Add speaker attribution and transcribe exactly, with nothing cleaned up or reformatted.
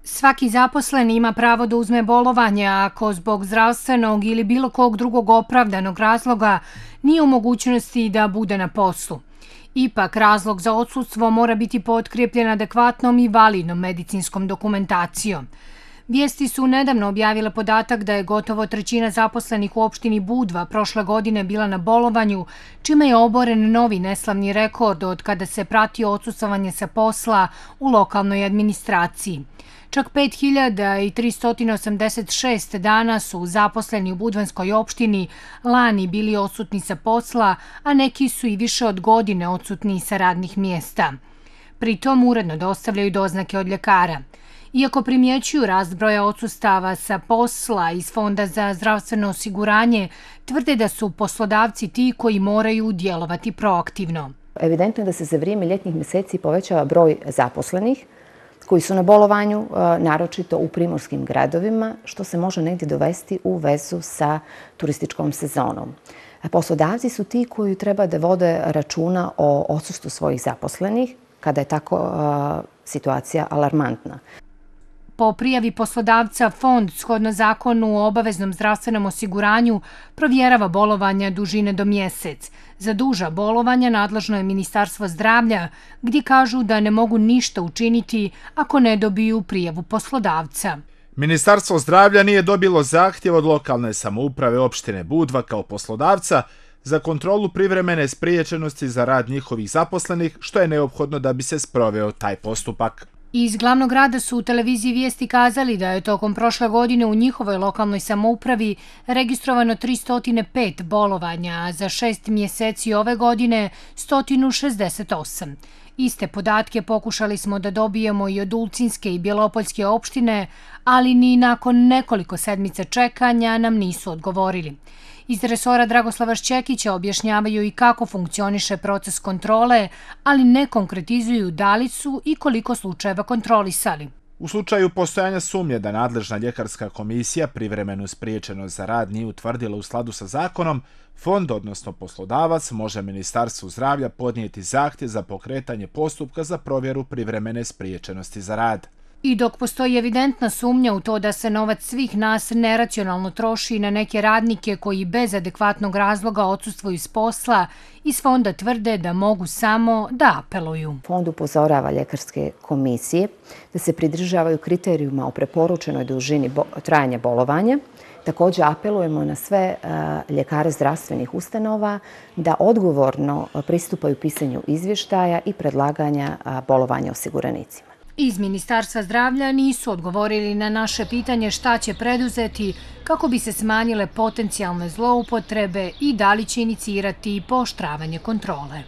Speaker 1: Svaki zaposleni ima pravo da uzme bolovanje ako zbog zdravstvenog ili bilo kog drugog opravdanog razloga nije u mogućnosti da bude na poslu. Ipak, razlog za odsustvo mora biti potkrijepljen adekvatnom i validnom medicinskom dokumentacijom. Vijesti su nedavno objavile podatak da je gotovo trećina zaposlenih u opštini Budva prošle godine bila na bolovanju, čime je oboren novi neslavni rekord od kada se prati odsustvovanje sa posla u lokalnoj administraciji. Čak pet hiljada tristo osamdeset šest dana su zaposleni u Budvanskoj opštini lani bili odsutni sa posla, a neki su i više od godine odsutni sa radnih mjesta. Pritom uredno dostavljaju doznake od ljekara. Iako primjećuju rast broja odsustava sa posla iz Fonda za zdravstveno osiguranje, tvrde da su poslodavci ti koji moraju djelovati proaktivno.
Speaker 2: Evidentno je da se za vrijeme ljetnih mjeseci povećava broj zaposlenih koji su na bolovanju, naročito u primorskim gradovima, što se može negdje dovesti u vezu sa turističkom sezonom. Poslodavci su ti koji treba da vode računa o odsustvu svojih zaposlenih kada je tako situacija alarmantna.
Speaker 1: Po prijavi poslodavca, fond, shodno zakonu o obaveznom zdravstvenom osiguranju, provjerava bolovanja dužine do mjesec. Za duža bolovanja nadležno je Ministarstvo zdravlja, gdje kažu da ne mogu ništa učiniti ako ne dobiju prijavu poslodavca.
Speaker 3: Ministarstvo zdravlja nije dobilo zahtjev od lokalne samouprave opštine Budva kao poslodavca za kontrolu privremene spriječenosti za rad njihovih zaposlenih, što je neophodno da bi se sproveo taj postupak.
Speaker 1: Iz glavnog grada su u televiziji Vijesti kazali da je tokom prošle godine u njihovoj lokalnoj samoupravi registrovano tristo pet bolovanja, a za šest mjeseci ove godine sto šezdeset osam. Iste podatke pokušali smo da dobijemo i od Ulcinske i Bjelopoljske opštine, ali ni nakon nekoliko sedmica čekanja nam nisu odgovorili. Iz resora Dragoslava Šćekića objašnjavaju i kako funkcioniše proces kontrole, ali ne konkretizuju da li su i koliko slučajeva kontrolisali.
Speaker 3: U slučaju postojanja sumnje da nadležna ljekarska komisija privremenu spriječenost za rad nije utvrdila u skladu sa zakonom, fond, odnosno poslodavac, može Ministarstvu zdravlja podnijeti zahtjev za pokretanje postupka za provjeru privremene spriječenosti za rad.
Speaker 1: I dok postoji evidentna sumnja u to da se novac svih nas neracionalno troši na neke radnike koji bez adekvatnog razloga odsustvuju s posla, iz fonda tvrde da mogu samo da apeluju.
Speaker 2: Fond upozorava ljekarske komisije da se pridržavaju kriterijuma o preporučenoj dužini trajanja bolovanja. Također apelujemo na sve ljekare zdravstvenih ustanova da odgovorno pristupaju pisanju izvještaja i predlaganja bolovanja osiguranicima.
Speaker 1: Iz Ministarstva zdravlja nisu odgovorili na naše pitanje šta će preduzeti kako bi se smanjile potencijalne zloupotrebe i da li će inicirati pooštravanje kontrole.